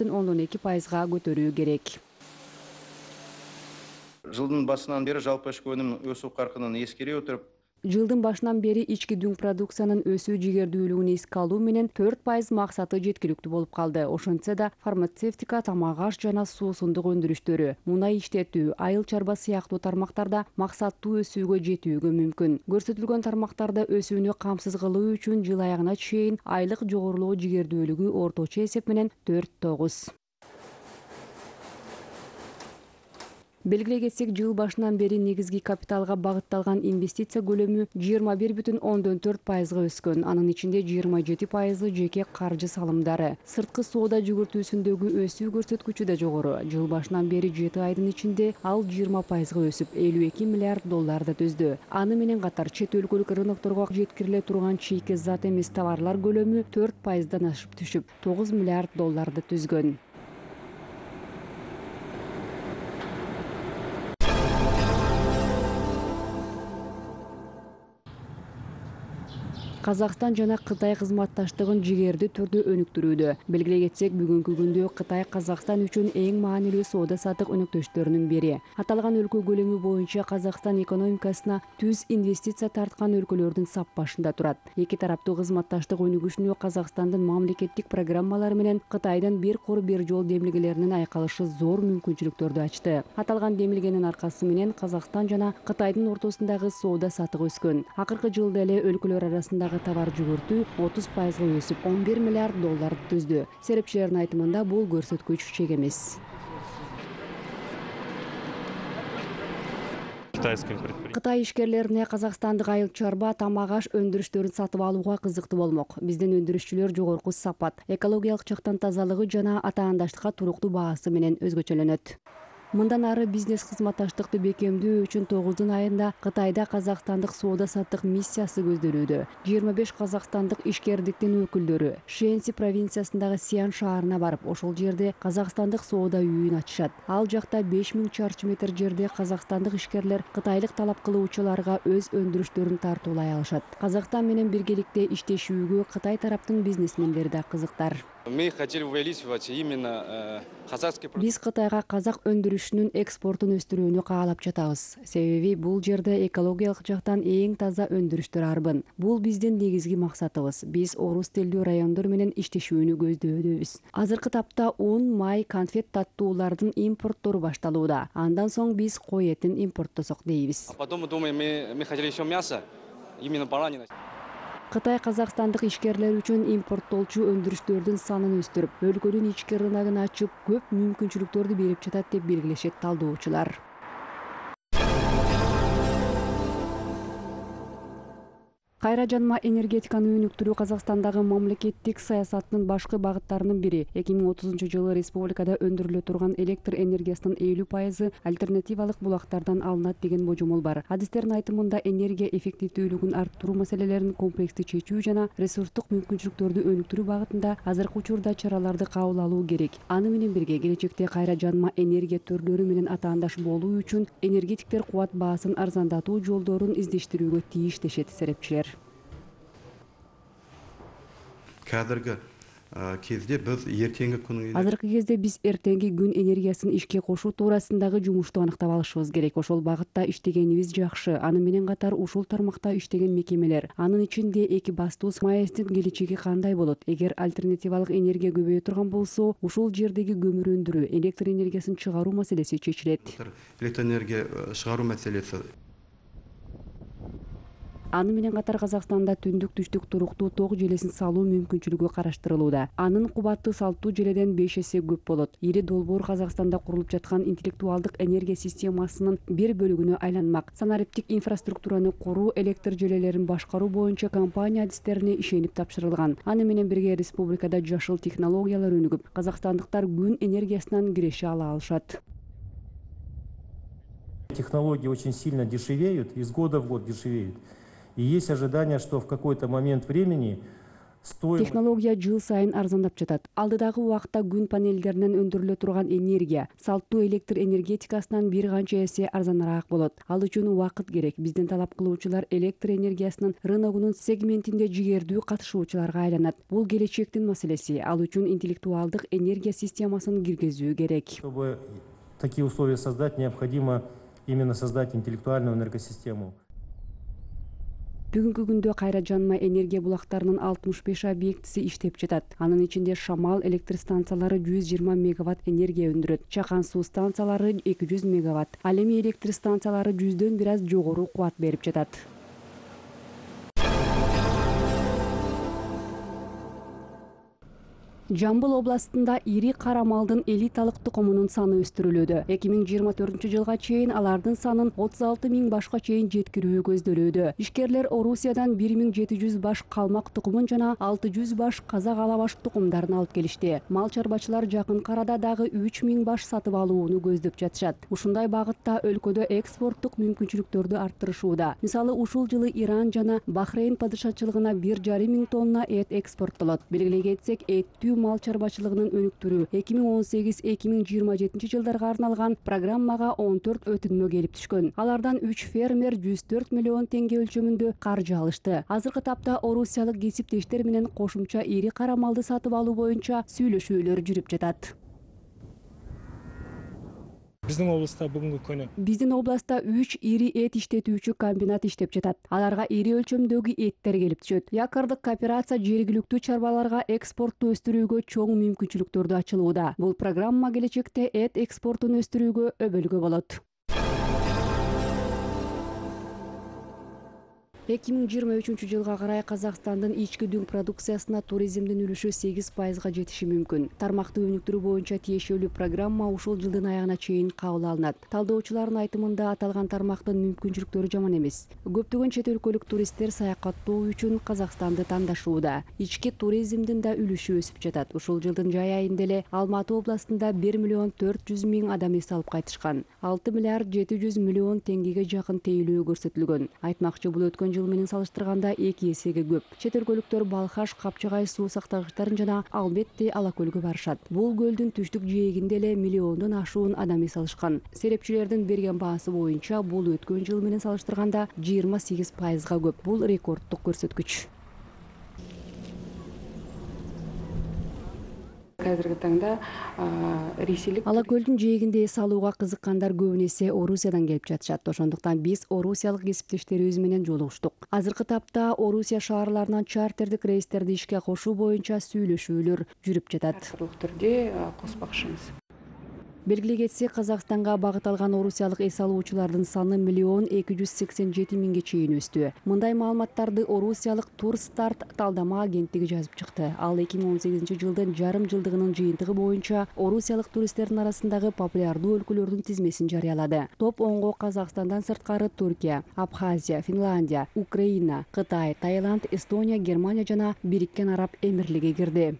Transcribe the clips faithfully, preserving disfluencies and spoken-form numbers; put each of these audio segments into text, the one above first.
ондон эки пайызга көтөрүү керек. Жылдын башынан бери жалпы ички өнүм өсүү каркынын эскере өтүрүп, Жылдын башынан бери ички дүң продукциянын өсүү жигердүүлүгүн эске алуу менен төрт пайыз максаты жеткиликтүү болуп калды. Ошентсе да фармацевтика, тамак аш жана суусундук өндүрүштөрү, мунай иштетүү, айыл чарба сыяктуу тармактарда максаттуу өсүүгө жетүүгө мүмкүн. Көрсөтүлгөн тармактарда өсүүнү камсыз кылуу үчүн жыл аягына чейин айлык жогорулоо жигердүүлүгү орточо эсеп менен төрт тогуз. Белгилей кетсек, жыл башынан бери негизги капиталга багытталган инвестиция көлөмү жыйырма бир бүтүн ондон төрт пайызга өскөн. Анын ичинде жыйырма жети пайызы жеке каржы салымдары. Сырткы соода жүгүртүүсүндөгү өсүү көрсөткүчү да жогору. Жыл башынан бери жети айдын ичинде ал жыйырма пайызга өсүп, элүү эки миллиард долларды түздү. Аны менен катар чет өлкөлүк рынокторго жеткириле турган чийки зат эмес товарлар көлөмү төрт пайыздан ашып түшүп, тогуз миллиард долларды түзгөн. Казакстан жана Кытай кызматташтыгын жигердүү түрдө өнүктүрүүдө. Белгилей кетсек, бүгүнкү күндө Кытай Казакстан үчүн эң маанилүү соода саттык өнөктөштөрүнүн бири. Аталган өлкө көлөмү боюнча Казакстан экономикасына түз инвестиция тарткан өлкөлөрдүн сап башында турат. Эки тараптуу кызматташтык өнүгүшүнө Казакстандын мамлекеттик программалары менен Кытайдын бир кор бир жол демилгелеринин айкалышы зор мүмкүнчүлүктөрдү ачты. Аталган демилгенин аркасы менен Казакстан жана Кытайдын ортосундагы соода саттык өскөн. Акыркы жылда эле өлкөлөр арасындагы товар жүгүртүү отуз пайызга өсүп, он бир миллиард долларды түздү. Серепчилердин айтымында бул көрсөткүч чек эмес. Кытай ишкерлерине казакстандык айыл чарба, тамак аш өндүрүштөрүн сатып алууга кызыктуу болмок. Биздин өндүрүшчүлөр жогорку сапат, экологиялык жактан тазалыгы жана атаандаштыкка туруктуу баасы менен өзгөчөлөнөт. Мындан ары бизнес кызматташтыкты бекемдөө үчүн тогуздун айында Кытайда казакстандык соода саттык миссиясы көзделүүдө. жыйырма беш казакстандык ишкердиктин өкүлдөрү Шэньси провинциясындагы Сиан шаарына барып, ошол жерде казакстандык соода үйүн ачышат. Ал жакта беш миң чарчы метр жерде казакстандык ишкерлер кытайлык талап кылуучуларга өз өндүрүштөрүн тартуулай алышат. Казакстан менен биргеликте иштешүүгө Кытай тараптын бизнесмендери да кызыктар. Мы хотели увеличивать именно казахский продукт. Биз Кытайга казак өндүрүшүнүн экспортун өстүрүүнү каалап жатабыз. Себеби бул жерде экологиялык жактан эң таза өндүрүштөр арбын. Бул биздин негизги максатыбыз. Биз орус тилдүү райондор менен иштешүүнү көздөбүз. Азыркы тапта ун, май, конфет таттуулардын импорттору башталууда. Андан соң биз кой этин импорттосок дейбиз. Потом думаем, мы мы хотели еще мясо, именно баранина. Кытай казакстандык ишкерлер үчүн импорттолчу өндүрүштөрдүн санын өстүрүп, өлкөнүн ички рыногун ачып, көп мүмкүнчүлүктөрдү берип жатат деп белгилешет талдоочулар. Кайра жанма энергетиканы өнүктүрүү Казакстандагы мамлекеттик саясаттын башкы багыттарынын бири. эки миң отузунчу жылы республикада өндүрүлө турган электр энергиясынын элүү пайызы альтернативалык булактардан алынат деген божомол бар. Адистердин айтымында энергия эффективдүүлүгүн арттыруу маселелерин комплекстүү чечүү жана ресурстук мүмкүнчүлүктөрдү өнүктүрүү багытында азыркы учурда чараларды кабыл алуу керек. Аны менен бирге келечекте кайра жанма энергия түрлөрү менен атаандаш болуу үчүн энергетиктер кубат баасын арзандатуу жолдорун издештирүүгө тийиш дешет серепчилер. Кадыргы кезде біз ертеңгі күнү Азыркы кезде биз эртеңки күн энергиясын ишке кошуу туурасындагы жумушту аныктап алышыбыз керек. Ошол багытта иштегенибиз жакшы. Аны менен катар ушул тармакта иштеген мекемелер, анын ичинде эки бастуус МАЭСтин келечеги кандай болот? Эгер альтернативалык энергия көбөйө турган болсо, ушул жердеги көмүр өндүрүү, электр энергиясын чыгаруу маселеси чечилет. Электр энергия чыгаруу маселеси. Аны менен катар Казакстанда түндүк түштүк туруктуу ток желесин салуу мүмкүнчүлүгү караштырылууда. Анын кубаты салттуу желеден беш эсе көп болот. Ири долбоор Казакстанда курулуп жаткан интеллектуалдык энергия системасынын бир бөлүгүнө айланмак. Санариптик инфраструктураны куруу, электр желелерин башкаруу боюнча компания адистерине ишенип тапшырылган. Аны менен бирге республикада жашыл технологиялар өнүгүп, казакстандыктар күн энергиясынан киреше ала алышат. Технологии очень сильно дешевеют, из года в год дешевеют. И есть ожидание, что в какой-то момент времени Технология жыл сайын арзандап жатат. Алдыдагы убакытта күн панелдеринен өндүрүлө турган энергия салттуу электр энергетикасынан бир канча эсе арзаныраак болот. Ал үчүн убакыт керек. Биздин талап кылуучулар электр энергиясынын рыногунун сегментинде жигердүү катышуучуларга айланат. Бул келечектин маселеси. Ал үчүн интеллектуалдык энергия системасын киргизүү керек. Чтобы такие условия создать, необходимо именно создать интеллектуальную энергосистему. Бүгүнкү күндө кайра жанма энергия булактарынын алтымыш беш объектиси иштеп жатат. Анын ичинде шамал электр станциялары жүз жыйырма мегаватт энергия өндүрөт. Чакан суу станциялары эки жүз мегаватт. Ал эми электр станциялары жүздөн бир аз жогору кубат берип жатат. Жамбыл областында ири кара малдын элиталык тукумунун саны өстүрүлүүдө. эки миң жыйырма төртүнчү жылга чейин алардын санын отуз алты миң башка чейин жеткирүү көздөлүүдө. Ишкерлер Орусиядан бир миң жети жүз баш калмак тукумун жана алты жүз баш казак алабаш тукумдарын алып келишти. Мал чарбачылар жакын арада дагы үч миң баш сатып алууну көздөп жатышат. Ушундай багытта өлкөдө экспорттук мүмкүнчүлүктөрдү арттырышууда. Мисалы, ушул жылы Иран жана Бахрейн падышачылыгына бир жарым миң тонна эт экспорттолот. Белгилей кетсек, эттүү мал чарбачылыгынын өнүктүрүү эки миң он сегиз эки миң жыйырма жетинчи жылдарга арналган программага он төрт өтүнмө келип түшкөн. Алардан үч фермер жүз төрт миллион теңге өлчөмүндө каржы алышты. Азыркы тапта орусиялык кесиптештер менен кошумча ири кара малды сатып алуу боюнча сүйлөшүүлөр жүрүп жатат. Биздин областта бүгүнкү күнү Биздин областта үч ири эт иштетүүчү комбинат иштеп жатат. Аларга ири өлчөмдөгү эттер келип түшөт. Якордук кооперация жергиликтүү чарбаларга экспортту өстүрүүгө чоң мүмкүнчүлүктөрдү ачылууда. Бул программа келечекте эт экспортун өстүрүүгө өбөлгө болот. эки миң жыйырма үчүнчү жылга карай Казакстандын ички дүң продукциясына туризмдин үлүшү сегиз пайызга жетиши мүмкүн. Тармакты өнүктүрүү боюнча тиешелүү программа ушул жылдын аягына чейин кабыл алынат. Талдоочулардын айтымында аталган тармактын мүмкүнчүлүктөрү жаман эмес. Көптөгөн чет өлкөлүк туристтер саякаттоо үчүн Казакстанды тандашууда. Ички туризмдин да үлүшү өсүп жатат. Ушул жылдын жай айында эле Алматы областында бир миллион төрт жүз миң адам эс алып кайтышкан. алты миллиард жети жүз миллион теңгеге жакын тейлөө көрсөтүлгөн. Айтмакчы, бул өткөн жыл менен салыштырганда эки эсеге көп. Чет өлкөлүктөр Балхаш, Капчагай суу сактагычтарын жана албетте Алакөлгө барышат. Бул көлдүн түштүк жээгинде эле миллиондон ашуун адам эс алышкан. Серепчилердин берген баасы боюнча бул өткөн жыл менен салыштырганда жыйырма сегиз пайызга көп. Бул рекордтук көрсөткүч. Азыркы таңда ресейлик Алакөлдүн жээгинде эс алууга кызыккандар көбүн эсе Орусиядан келип жатышат. Ошондуктан биз орусиялык кесиптештерибиз менен жолугуштук. Азыркы тапта Орусия шаарларынан чартердик рейстерди ишке кошуу боюнча сүйлөшүүлөр жүрүп жатат. түрдө коспакчыбыз. Белгилей кетсек, Казакстанга багыт алган орусиялык эс алуучулардын саны миллион эки жүз сексен жети миңге чейин өстү. Мындай маалыматтарды орусиялык Турстарт талдама агенттиги жазып чыкты. Ал эки миң он сегизинчи жылдын жарым жылдыгынын жыйынтыгы боюнча орусиялык туристтердин арасындагы популярдуу өлкөлөрдүн тизмесин жарыялады. Топ онго Казакстандан сырткары Түркия, Абхазия, Финляндия, Украина, Кытай, Таиланд, Эстония, Германия жана Бириккен Араб Эмирлиги кирди.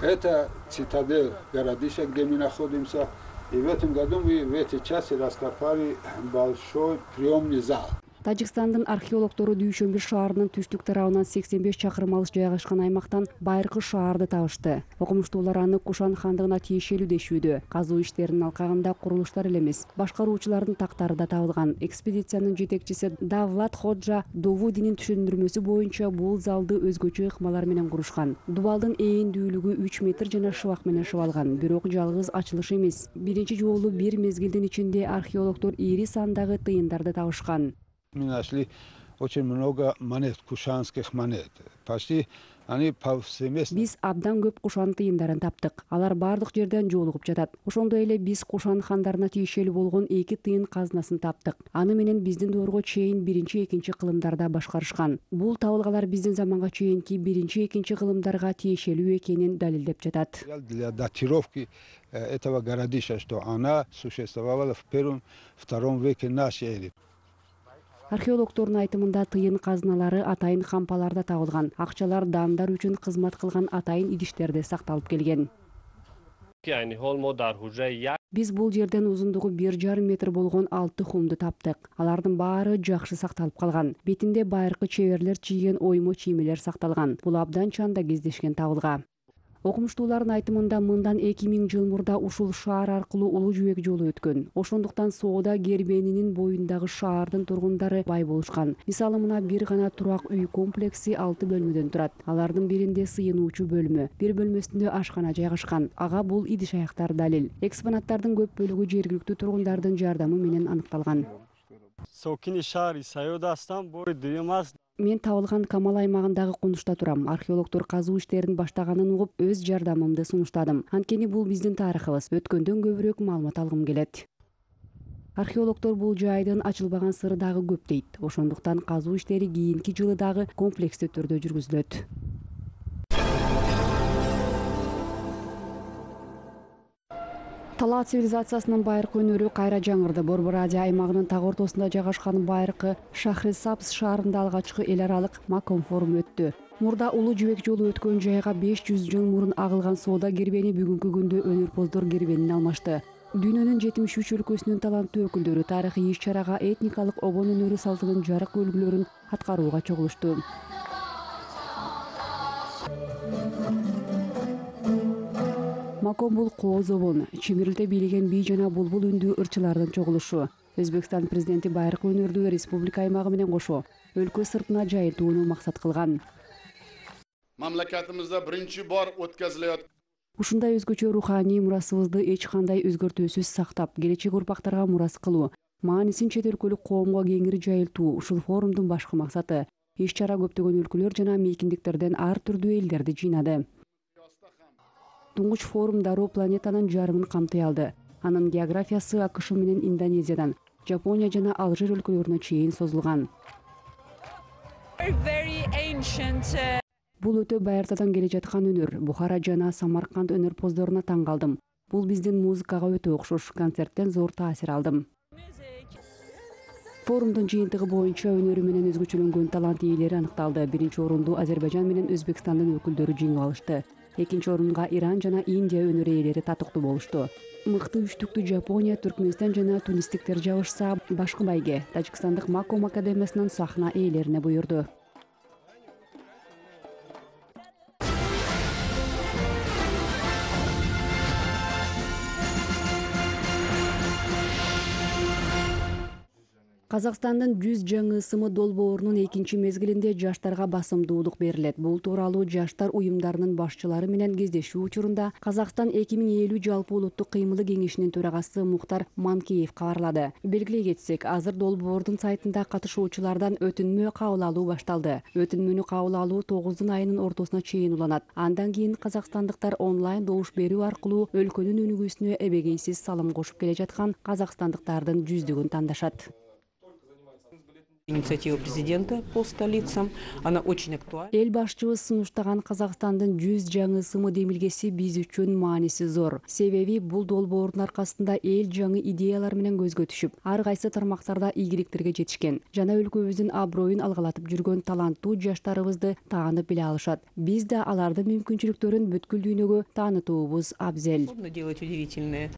Это цитадель городища, где мы находимся. И в этом году мы в этой части раскопали большой приемный зал. Тажикстандын археологтору Дүйшөмбү шаарынын түштүк тарабынан сексен беш чакырым алыс жайгашкан аймактан байыркы шаарды табышты. Окумуштуулар аны Кушан хандыгына тиешелүү дешүүдө. Казуу иштеринин алкагында курулуштар эле эмес, башкаруучулардын тактары да табылган. Экспедициянын жетекчиси Давлат Ходжа Довудинин түшүндүрмөсү боюнча бул залды өзгөчө ыкмалар менен курушкан. Дубалдын ээндүүлүгү үч метр жана шыбак менен шыбалган. Бирок жалгыз ачылыш эмес. Биринчи жолу бир мезгилдин ичинде археологдор ири сандагы тыйындарды табышкан. Мы нашли очень много монет, кушанских монет. Почти они повсеместно. Биз абдан көп Кушан тыйындарын таптык. Алар бардык жерден жолугуп жатат. Ошондой эле биз Кушан хандарына тиешелүү болгон эки тыйын казынасын таптык. Аны менен биздин доорго чейин биринчи, экинчи кылымдарда башкарышкан. Бул табылгалар биздин заманга чейинки биринчи, экинчи кылымдарга тиешелүү экенин далилдеп жатат. Для датировки этого городища, что она существовала в первом, втором веке нашей эры. Археологдордун айтымында тыйын казыналары атайын кампаларда табылган. Акчалар дандар үчүн кызмат кылган атайын идиштерде сакталып келген. Биз бул жерден узундугу бир жарым метр болгон алты хумду таптык. Алардын баары жакшы сакталып калган. Бетинде байыркы чеберлер чийген оймо чиймелер сакталган. Бул абдан чанда кездешкен табылга. Окумуштуулардын айтымында мындан эки миң жыл мурда ушул шаар аркылуу улуу жүүк жолу өткөн. Ошондуктан соода кербенинин боюндагы шаардын тургундары бай болушкан. Мисалы мына бир гана турак үй комплекси алты бөлмөдөн турат. Алардын биринде сыйынуучу бөлмө, бир бөлмөсүндө ашкана жайгашкан. Ага бул идиш аяктар далил. Экспонаттардын көп бөлүгү жергиликтүү тургундардын жардамы менен аныкталган. Мен табылган Камал аймагындагы Кунушта турам. Археологдор казуу иштерин баштаганын угуп, өз жардамымды сунуштадым. Анткени бул биздин тарыхыбыз. Өткөндөн көбүрөөк маалымат алгым келет. Археологдор бул жайдын ачылбаган сыры дагы көп дейт. Ошондуктан казуу иштери кийинки жылы дагы комплекстүү түрдө жүргүзүлөт. Талаа цивилизациясынын байыркы өнөрү кайра жаңырды. Борбор Азия аймагынын так ортосунда жайгашкан байыркы Шахрисабз шаарында алгачкы эл аралык Маком форуму өттү. Мурда улуу жибек жолу өткөн жайга беш жүз жыл мурун агылган соода кербени бүгүнкү күндө өнөрпоздор кербенин алмашты. Дүйнөнүн жетимиш үч өлкөсүнүн таланттуу өкүлдөрү тарыхый иш-чарага этникалык обон өнөрү салтынын жарык үлгүлөрүн аткарууга чогулушту. Маком бул кооз обон, чимирилте бийлеген бий жана булбул үндүү ырчылардын чогулушу. Өзбекстан президенти байыркы өнөрдү республика аймагы менен кошо өлкө сыртына жайылтууну максат кылган. Мамлакатыбызда биринчи бор өткөзүлөт. Ушундай өзгөчө руханий мурасыбызды эч кандай өзгөртүүсүз сактап, келечек урпактарга мурас кылуу, маанисин чет өлкөлүк коомго кеңири жайылтуу ушул форумдун башкы максаты. Иш-чара көптөгөн өлкөлөр жана мейкиндиктерден ар түрдүү элдерди жыйнады. Туңгуч форум дароо планетанын жарымын камтый алды. Анын географиясы АКШ менен Индонезиядан, Жапония жана Алжир өлкөлөрүнө чейин созулган. Бул өтө байыртадан келе жаткан өнөр. Бухара жана Самарканд өнөрпоздоруна таң калдым. Бул биздин музыкага өтө окшош. Концерттен зор таасир алдым. Форумдун жыйынтыгы боюнча өнөрү менен өзгөчөлөнгөн талант ээлери аныкталды. Биринчи орунду Азербайжан менен Өзбекстандын өкүлдөрү жеңип алышты. Экинчи орунга Иран жана Индия өнөр ээлери татыктуу болушту. Мыкты үчтүктү Жапония, Түркмөнстан жана тунистиктер жабышса, башкы байге Тажикстандык Маком академиясынын сахна ээлерине буйрду. Казакстандын жүз жаңы ысымы долбоорунун экинчи мезгилинде жаштарга басымдуулук берилет. Бул тууралуу жаштар уюмдарынын башчылары менен кездешүү учурунда Казакстан эки миң элүү жалпы улуттук кыймылы кеңешинин төрагасы Мухтар Манкеев кабарлады. Белгилей кетсек, азыр долбоордун сайтында катышуучулардан өтүнмө кабыл алуу башталды. Өтүнмөнү кабыл алуу тогуздун айынын ортосуна чейин уланат. Андан кийин казакстандыктар онлайн добуш берүү аркылуу өлкөнүн өнүгүүсүнө эбегейсиз салым кошуп келе жаткан казакстандыктардын жүздүгүн тандашат. Инициатива президента по столицам, она очень актуальна. Эл башчыбыз сунуштаган Казакстандын жүз жаңы ысымы демилгеси биз үчүн мааниси зор. Себеби бул долбоордун аркасында эл жаңы идеялар менен көзгө түшүп, ар кайсы тармактарда ийгиликтерге жетишкен. Жана өлкөбүздүн аброюн алгалатып жүргөн таланттуу жаштарыбызды таанып биле алышат. Биз да алардын мүмкүнчүлүктөрүн бүткүл дүйнөгө таанытуубуз абзел. Делать удивительное.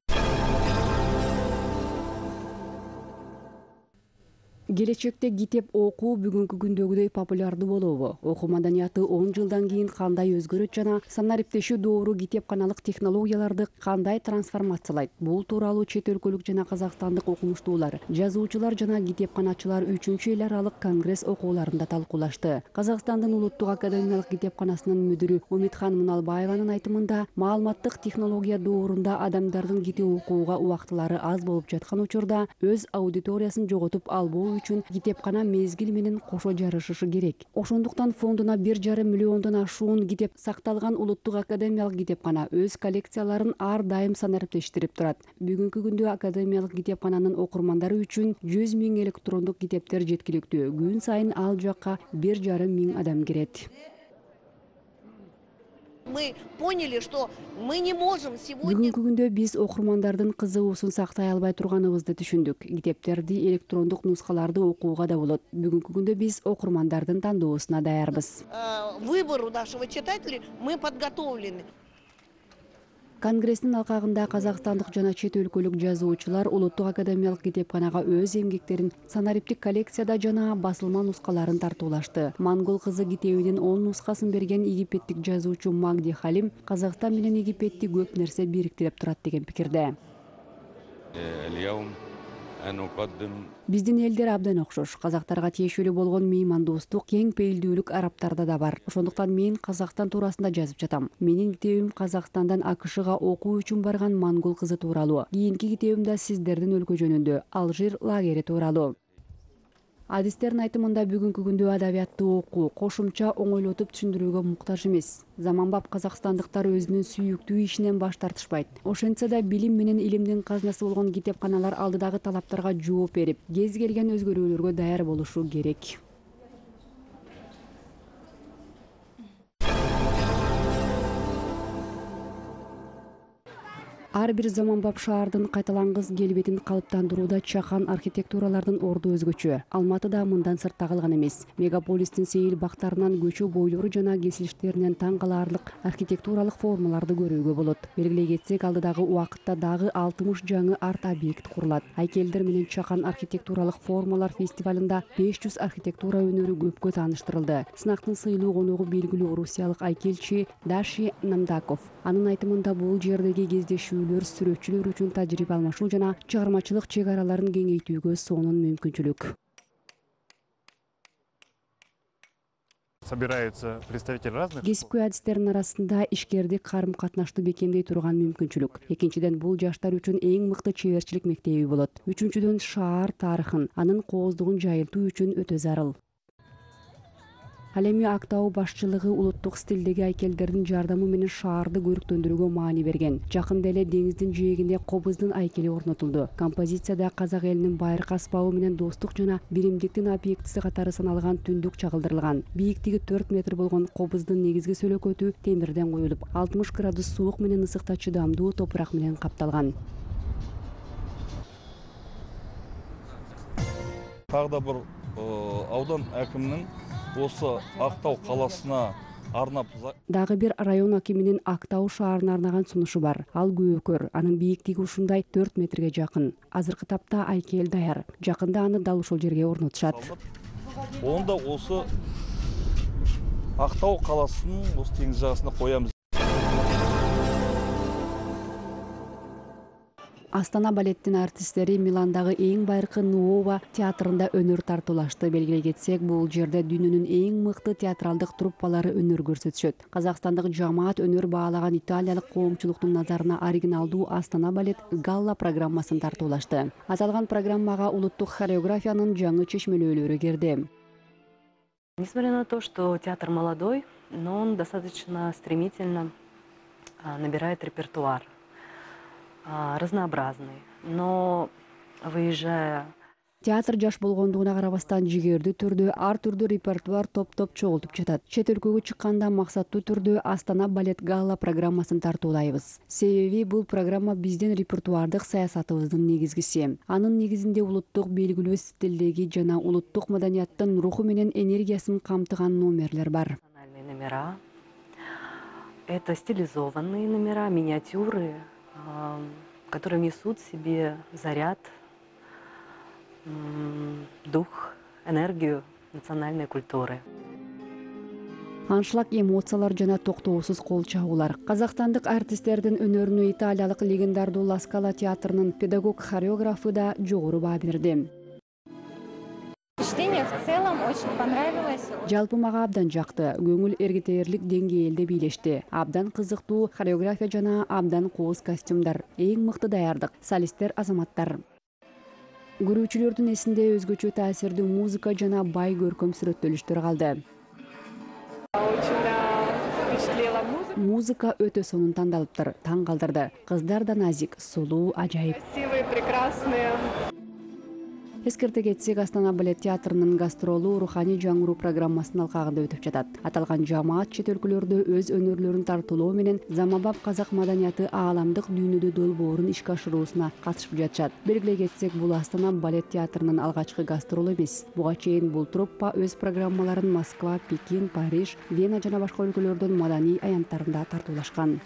Келечекте китеп окуу бүгүнкү күндөгүдөй популярдуу болобу? Окуу маданияты он жылдан кийин кандай өзгөрөт жана санариптешүү доору китепканалык технологияларды кандай трансформациялайт? Бул тууралуу чет өлкөлүк жана казакстандык окумуштуулар, жазуучулар жана китепканачылар үчүнчү эл аралык конгресс окууларында талкуулашты. Казакстандын улуттук академиялык китепканасынын мүдүрү Умитхан Муналбаеванын айтымында, маалыматтык технология доорунда адамдардын китеп окууга убактылары аз болуп жаткан учурда өз аудиториясын жоготуп албоо үчүн китепкана мезгил менен кошо жарышышы керек. Ошондуктан фондуна бир жарым миллиондон ашуун китеп сакталган улуттук академиялык китепкана өз коллекцияларын ар дайым санариптештирип турат. Бүгүнкү күндө академиялык китепкананын окурмандары үчүн жүз миң электрондук китептер жеткиликтүү. Күн сайын ал жакка бир жарым миң адам кирет. Мы поняли, что мы не можем сегодня... Бүгүнкү күндө биз окурмандардын кызыгуусун сактай албай турганыбызды түшүндүк. Китептерди электрондук нускаларды окууга да болот. Бүгүнкү күндө биз окурмандардын тандоосуна даярбыз. Выбору нашего читателя мы подготовлены. Конгресстин алкагында казакстандык жана чет өлкөлүк жазуучулар Улуттук академиялык китепканага өз эмгектерин санариптик коллекцияда жана басылма нускаларын тартуулашты. Монгол кызы китебинин он нускасын берген египеттик жазуучу Магди Халим Казакстан менен Египетти көп нерсе бириктирип турат деген пикирде. Биздин элдер абдан окшош. Казактарга тиешелүү болгон меймандостук, кең пейилдүүлүк арабтарда да бар. Ошондуктан мен Казакстан туурасында жазып жатам. Менин китебим Казакстандан АКШга окуу үчүн барган монгол кызы тууралуу. Кийинки китебим да сиздердин өлкө жөнүндө, Алжир лагери тууралуу. Адистердин айтымында бүгүнкү күндө адабиятты окуу кошумча оңойлотуп түшүндүрүүгө муктаж эмес. Заманбап казакстандыктар өзүнүн сүйүктүү ишинен баш тартышпайт. Ошентсе да билим менен илимдин казнасы болгон китепканалар алдыдагы талаптарга жооп берип, кез келген өзгөрүүлөргө даяр болушу керек. Ар бир заманбап шаардын кайталангыс келбетин калыптандырууда чакан архитектуралардын орду өзгөчө. Алматыда мындан сыртта калган эмес. Мегаполистин сейил бактарынан көчө бойлору жана кесилиштеринен таң калаарлык архитектуралык формаларды көрүүгө болот. Белгилей кетсек, алдыдагы убакытта дагы алтымыш жаңы арт-объект курулат. Айкелдер менен чакан архитектуралык формалар фестивалында беш жүз архитектура өнөрү көпкө тааныштырылды. Сынактын сыйлуу коногу белгилүү орусиялык айкелчи Даши Намдаков. Анын айтымында бул жердеги кездешүүлөр сүрөтчүлөр үчүн тажрыйба алмашуу жана чыгармачылык чек араларын кеңейтүүгө сонун мүмкүнчүлүк. Собираются представители разных. Кесипкөй адистердин арасында ишкердик карым-катнашты бекемдей турган мүмкүнчүлүк. Экинчиден, бул жаштар үчүн эң мыкты чеберчилик мектеби болот. Үчүнчүдөн, шаар тарыхын, анын кооздугун жайылтуу үчүн өтө зарыл. Ал эми Актау башчылыгы улуттук стилдеги айкелдердин жардамы менен шаарды көрүктөндүрүүгө маани берген. Жакында эле деңиздин жээгинде кобуздун айкели орнотулду. Композицияда казак элинин байыркы аспабы менен достук жана биримдиктин объектиси катары саналган түндүк чагылдырылган. Бийиктиги төрт метр болгон кобуздун негизги сөлөкөтү темирден коюлуп, алтымыш градус суук менен ысыкта чыдамдуу топурак менен капталган. Тағы да бир аудан әкиминин осы Актау каласына арнап. Дагы бир район акиминин Актау шаарына арнаган сунушу бар. Ал көкөр, анын бийиктиги ушундай төрт метрге жакын. Азыркы тапта айкел даяр. Жакында аны дал ушул жерге орнотушат. Онда осы Актау каласынын осы теңиз жагасына коямыз. Астана балеттин артисттери Миландагы эң байыркы Нуова театрында өнөр тартуулашты. Белгилей кетсек, бул жерде дүйнөнүн эң мыкты театралдык труппалары өнөр көрсөтүшөт. Казакстандык жамаат өнөр баалаган италиялык коомчулуктун назарына оригиналдуу Астана балет галла программасын тартуулашты. Аталган программага улуттук хореографиянын жаңы чечмелөөлөрү кирди. Несмотря на то, что театр молодой, но он достаточно стремительно набирает репертуар. Разнообразный, но выезжая... Театр жаш болгондугуна карабастан жигердүү түрдө ар түрдүү репертуар топ-топ чогултуп жатат. Чет өлкөгө чыкканда максаттуу түрдө Астана балет галла программасын тартуулайбыз. Себеби бул программа биздин репертуардык саясатыбыздын негизгиси. Анын негизинде улуттук белгилүү стилдеги жана улуттук маданияттын руху менен энергиясын камтыган номерлер бар. Номера. Это стилизованные номера, миниатюры, которые несут в себе заряд, дух, энергию национальной культуры. Аншлаг, эмоциялар жана токтоосуз кол чабуулар. Казакстандык артисттердин өнөрүнө италиялык легендардуу Ла Скала театрынын педагог-хореографы да жогору баа берди. Чтение в целом очень понравилось. Жалпы мага абдан жакты. Көңүл эргитээрлик деңгээлде бийлешти. Абдан кызыктуу хореография жана абдан кооз костюмдар. Эң мыкты даярдык. Солисттер азаматтар. Көрүүчүлөрдүн эсинде өзгөчө таасирдүү музыка жана бай көркөм сүрөттөлүштөр калды. Музыка өтө сонун тандалыптыр, таң калтырды. Кыздар да назик, сулуу, ажайып. Красивые, прекрасные. Эскерте кетсек, Астана балет театрынын гастролу руханий жаңыруу программасынын алкагында өтүп жатат. Аталган жамаат чет өлкөлөрдө өз өнөрлөрүн тартуулоо менен заманбап казак маданияты ааламдык дүйнөдө долбоорун ишке ашыруусуна катышып жатышат. Белгилей кетсек, бул Астана балет театрынын алгачкы гастролу эмес. Буга чейин бул труппа өз программаларын Москва, Пекин, Париж, Вена жана башка өлкөлөрдүн маданий аянттарында тартуулашкан.